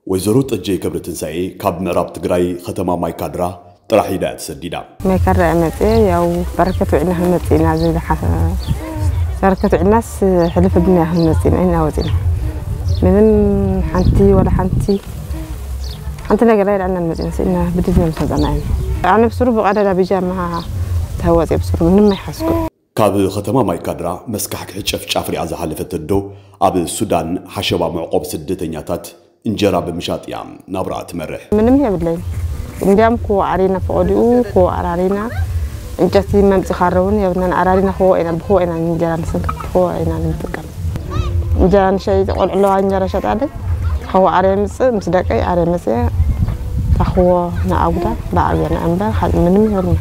ወይዘሮ ጠጀይ ከብረ ትንሳኤ ካብ ምዕራብ ትግራይ ከተማ ማይካድራ ጥራሕ ኢዳ እያ ተሰዲዳ። ማይካድራ እየ መፅየ፣ ያው በረከት ውዒልና ክንመፅእ ኢና ዝብል ሓ-፣ በረከት ውዒልናስ ሕልፍ ብና ክንመፅእ ኢና፣ ኢና ወፂና። ምንም ሓንቲ ወላ ሓንቲ፣ ሓንቲ ነገር ኣይልዓልናን መፂና፣ ስኢና ብድድ መምሰጠና ኢና። ኣነ ብስሩ ብቐደዳ ቢጃማ ተወፅየ፣ ብስሩ ምንም ኣይሓዝኩ። ካብ ከተማ ማይካድራ መስካሕክሒ ጨፍጫፍ ሪኣ ዝሓለፈት ኣዶ፣ ኣብ ሱዳን ሓሸባ መዕቆብ ስደተኛታት እንጀራ ብምሻጥ እያ ናብራ ትመርሕ። ምንም የብለይን። እንዲያም ክወ ኣሪና፣ ፈቐዲኡ ክወ ኣራሪና፣ እንጨቲ መምፂ ካረውን የብናን፣ ኣራሪና ክወ ኢና፣ ብክወ ኢና እንጀራ ንሰንክት፣ ብክወ ኢና ንጥቀም። እንጀራ ንሸይ ቆልዑ ኣለዋ፣ እንጀራ ሸጣለይ። ክወ ኣርየ ምፅእ፣ ምስ ደቀይ ኣርየ መፅየ፣ ታኽዎ ንኣጉዳ ብዓብየና እምበር፣ ካልእ ምንም የብልና።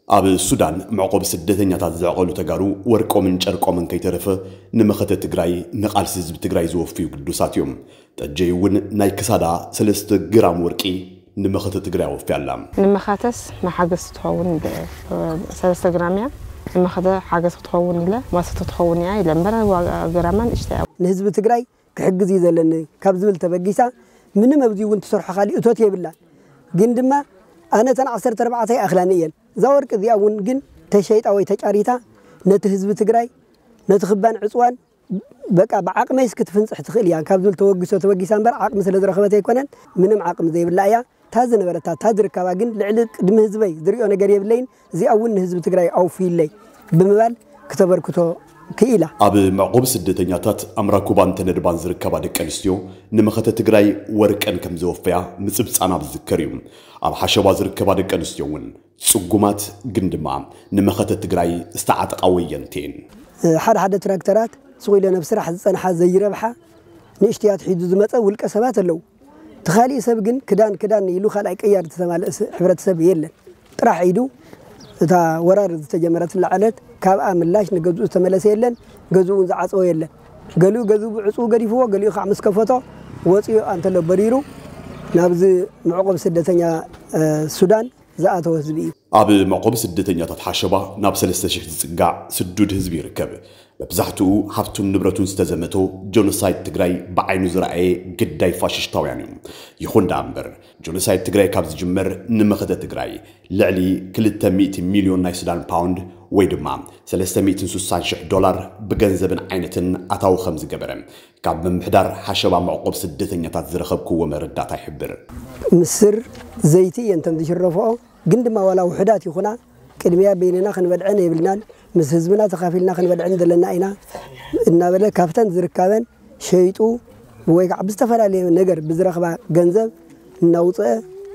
ኣብ ሱዳን መዕቆቢ ስደተኛታት ዘዕቐሉ ተጋሩ ወርቆምን ጨርቆምን ከይተረፈ ንመኸተ ትግራይ፣ ንቓልሲ ህዝቢ ትግራይ ዘወፍዩ ግዱሳት እዮም። ጠጀይ እውን ናይ ክሳዳ ሰለስተ ግራም ወርቂ ንመኸተ ትግራይ ኣወፍያ ኣላ። ንመኸተስ መሓገዝ ትኸውን ብ-፣ ሰለስተ ግራም እያ። ንመኸተ ሓገዝ ክትኸውን ኢለ፣ መሰቶ ትኸውን እያ ኢለ እምበር፣ ዋጋ ግራማ ንእሽተይ እያ። ንህዝቢ ትግራይ ክሕግዝ እዩ ዘለኒ ካብ ዝብል ተበጊሳ፣ ምንም ኣብዚ እውን ትሰርሖ ካሊእ እቶት የብላን። ግን ድማ ኣነ እተን ዓሰርተ ኣርባዕተ ይኣኽላኒ እየን። እዛ ወርቂ እዚኣ እውን ግን ተሸይጣ ወይ ተጫሪታ ነቲ ህዝቢ ትግራይ፣ ነቲ ክባን ዕፅዋን፣ በቃ ብዓቕመይስ ክትፍንፅሕ ትኽእል እያ ካብ ዝብል ተወግሶ ተበጊሳ እምበር፣ ዓቕሚ ስለ ዝረኸበት ኣይኮነን፣ ምንም ዓቕሚ ዘይብላ እያ። እታ ዝነበረታ፣ እታ ዝርከባ ግን ልዕሊ ቅድሚ ህዝበይ ዝሪኦ ነገር የብለይን፣ እዚኣ እውን ንህዝቢ ትግራይ ኣውፍይለይ ብምባል ክተበርክቶ ክኢላ። ኣብ መዕቆቢ ስደተኛታት ኣምራኩባን ተነድባን ዝርከባ ደቂ ኣንስትዮ ንመኸተ ትግራይ ወርቀን ከም ዘወፈያ ምጽብጻና ዝዝከር እዩ። ኣብ ሓሸባ ዝርከባ ደቂ ኣንስትዮ እውን ጽጉማት ግን ድማ ንመኸተ ትግራይ ዝተዓጠቓ ወየንቲ እየን። ሓደ ሓደ ትራክተራት ስቕ ኢለን ኣብ ስራሕ ዝጸንሓ ዘይረብሓ ንእሽትያት ሒዙ ዝመጸ ውልቀ ሰባት ኣለዉ። እቲ ካሊእ ሰብ ግን ክዳን ክዳን ኢሉ ካልኣይ ቅያር ዝተማልአ ስ-፣ ሕብረተሰብ የለን። ጥራሕ ኢዱ እታ ወራር ዝተጀመረትላ ዕለት ካብኣ ምላሽ ንገዝኡ ዝተመለሰ የለን። ገዝኡ እውን ዝዓፀወ የለን። ገሊኡ ገዝኡ ብዕፅው ገዲፍዎ፣ ገሊኡ ከዓ ምስ ከፈቶ ወፂኡ ኣንተሎ በሪሩ ናብዚ መዕቆብ ስደተኛ፣ እ፣ ሱዳን ዝኣተወ ህዝቢ እዩ። ኣብ መዕቆቢ ስደተኛታት ሓሸባ ናብ ሰለስተ ሽሕ ዝጽጋዕ ስዱድ ህዝቢ ይርከብ። መብዛሕትኡ ሃብቱን ንብረቱን ዝተዘመቶ ጆኖሳይድ ትግራይ ብዓይኑ ዝረኣየ ግዳይ ፋሽስታውያን እዩ። ይኹን ደኣ እምበር፣ ጆኖሳይድ ትግራይ ካብ ዝጅመር ንመኸተ ትግራይ ልዕሊ ክልተ ሚእቲ ሚልዮን ናይ ሱዳን ፓውንድ ወይ ድማ ሰለስተ ሚእትን ስሳን ሽሕ ዶላር ብገንዘብን ዓይነትን ኣታዊ ከም ዝገበረ ካብ ምምሕዳር ሓሸባ መዕቆብ ስደተኛታት ዝረኸብክዎ መረዳእታ ይሕብር። ምስር ዘይቲ እየን ተን ዝሽረፍኦ። ግን ድማ ዋላ ውሑዳት ይኹና፣ ቅድሚያ በይንና ክንበልዐን የብልናን፣ ምስ ህዝብና ተኻፊልና ክንበልዐን ዘለና ኢና እናበለ ካብተን ዝርከበን ሸይጡ ወይ ከዓ ብዝተፈላለየ ነገር ብዝረኽባ ገንዘብ እናውፅአ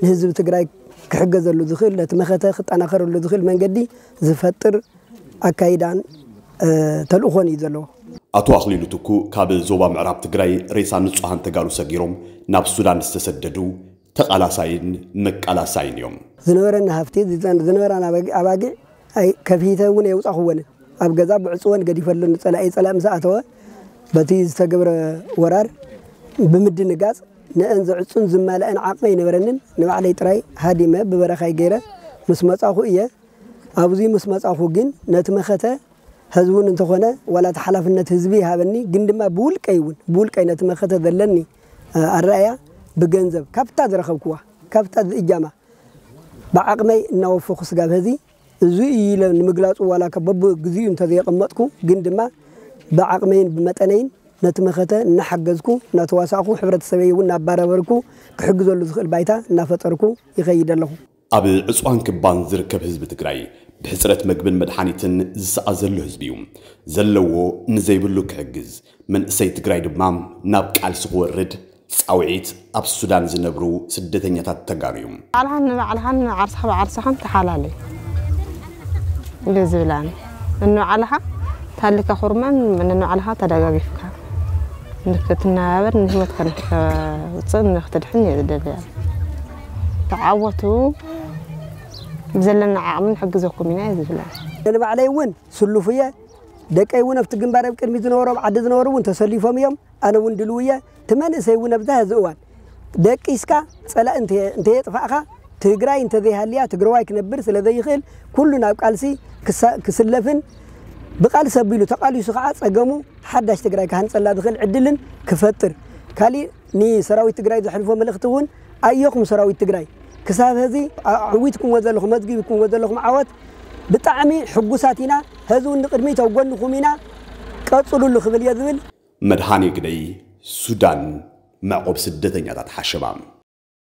ንህዝቢ ትግራይ ክሕገዘሉ ዝኽእል፣ ነቲ መኸተ ክጠናኸረሉ ዝኽእል መንገዲ ዝፈጥር ኣካይዳን፣ እ፣ ተልእኾን እዩ ዘለዎ። ኣቶ ኣኽሊሉ ትኩ ካብ ዞባ ምዕራብ ትግራይ ሬሳ ንጹሃን ተጋሩ ሰጊሮም ናብ ሱዳን ዝተሰደዱ ተቓላሳይን መቃላሳይን እዮም። ዝነበረና ሃፍቲ፣ ዝጸን-፣ ዝነበራና ኣባጊ-፣ ኣባጊዕ ኣይ-፣ ከፊተ እውን የውጻኹወንን። ኣብ ገዛ ብዕጽወን ገዲፈለን። ጸላኢ ጸላኢ ምስ ኣተወ፣ በቲ ዝተገብረ ወራር ብምድንጋጽ፣ ንአን ዘዕጹን ዝማልአን ዓቕሚ ኣይነበረንን። ንባዕለይ ጥራይ ሃዲመ ብበረኻይ ገይረ ምስ መጻኹ እየ። ኣብዚ ምስ መጻኹ ግን ነቲ መኸተ ህዝቡን እንተኾነ ዋላ እቲ ሓላፍነት ህዝቢ ይሃበኒ፣ ግን ድማ ብውልቀይ እውን፣ ብውልቀይ ነቲ መኸተ ዘለኒ፣ እ፣ ኣረኣእያ ብገንዘብ ካብታ ዝረኸብክዋ፣ ካብታ ዝእጃማ ብዓቕመይ እናወፈኹ ስጋብ ሀዚ እዚ እዩ ኢለ ንምግላጹ ዋላ ከ በብግዚኡ እንተዘየቐመጥኩ፣ ግን ድማ ብዓቕመይን ብመጠነይን ነቲ መኸተ እናሓገዝኩ፣ እናተዋሳእኩ፣ ሕብረተሰበይ እውን እናባረበርኩ ክሕግዘሉ ዝኽእል ባይታ እናፈጠርኩ ይኸይድ ኣለኹ። ኣብ ዕፅዋን ክባን ዝርከብ ህዝቢ ትግራይ ብሕፅረት መግብን መድሓኒትን ዝሰኣ ዘሎ ህዝቢ እዩ። ዘለዎ ንዘይብሉ ክሕግዝ፣ መንእሰይ ትግራይ ድማ ናብ ቃልሲ ክወርድ ፃውዒት ኣብ ሱዳን ዝነብሩ ስደተኛታት ተጋሩ እዩ። ባዕልኻን ንባዕልኻን ዓርስኻ ብዓርስኻን ተሓላለይ እዩ ዝብል ኣነ። ንባዕልኻ ታሊካ ኩርማን ንባዕልኻ ተደጋጊፍካ ንክትነባበር፣ ንህይወትካ ንክተውፅእ፣ ንክትድሕን እየ ዝደሊ። ተዓወቱ፣ ብዘለና ዓቕሚ ንሕግዘኩም ኢና እየ ዝብል ኣነ። ንባዕለይ እውን ስሉፍ እየ። ደቀይ እውን ኣብቲ ግንባር ኣብ ቅድሚት ዝነበሩ፣ ኣብ ዓዲ ዝነበሩ እውን ተሰሊፎም እዮም። ኣነ እውን ድልው እየ። እቲ መንእሰይ እውን ኣብዚ ሕዚ እዋን ደቂስካ ጸላኢ እንተ-፣ እንተየጥፋእካ፣ ትግራይ እንተዘይሃልያ ትግራዋይ ክነብር ስለ ዘይኽእል፣ ኩሉ ናብ ቃልሲ ክሳ-፣ ክስለፍን ብቃልሲ ኣቢሉ ተቓሊሱ ከዓ ጸገሙ ሓዳሽ ትግራይ ክሃንጸላ ዝኽእል ዕድልን ክፈጥር፣ ካሊእ ንሰራዊት ትግራይ ዘሕልፎ መልእኽቲ እውን ኣየኹም ሰራዊት ትግራይ ክሳብ ሕዚ ኣዕዊትኩምዎ ዘለኹም መዝጊብኩምዎ ዘለኹም ዓወት ብጣዕሚ ሕጉሳት ኢና። ሕዚ እውን ንቕድሚት ኣብ ጎንኹም ኢና፣ ቀፅሉሉ ክብል እየ ዝብል። መድሃኔ ግደይ፣ ሱዳን፣ መዕቆብ ስደተኛታት ሓሸባ።